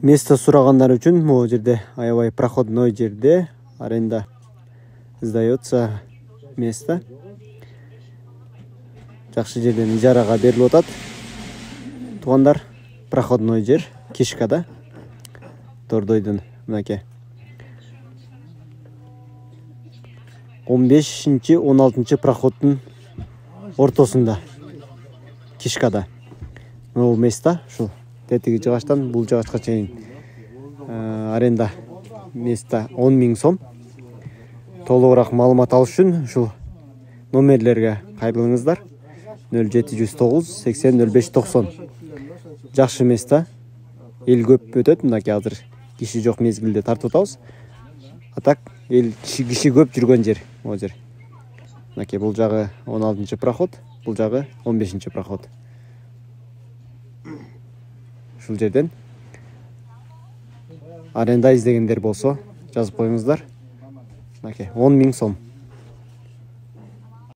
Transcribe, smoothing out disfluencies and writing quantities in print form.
Место сурагандар үчүн могу жерде аябай проходной жерде аренда сдается место. Жакшы жерден ижарага берилип атат. Туугандар, проходной жер Кишкада. Тордойдун мынакей 15-16 проходдун ортосунда Кишкада. Бул место ушул тетиги жыгачтан бул жыгачка чейин аренда место 10 000 сом. Толугураак маалымат алыш үчүн ушул номерлерге кайрылыңыздар. 0709 80 05 90. Жакшы место. Эл көп өтөт, мынакей азыр киши жок мезгилде тартып атабыз. А так эл киши көп жүргөн жер могу жер. Мынакей бул жагы 16 проход, бул жагы 15 проход. Ушул жерден аренда издегендер болсо жазып коюңуздар. Мынакей 10 000 сом.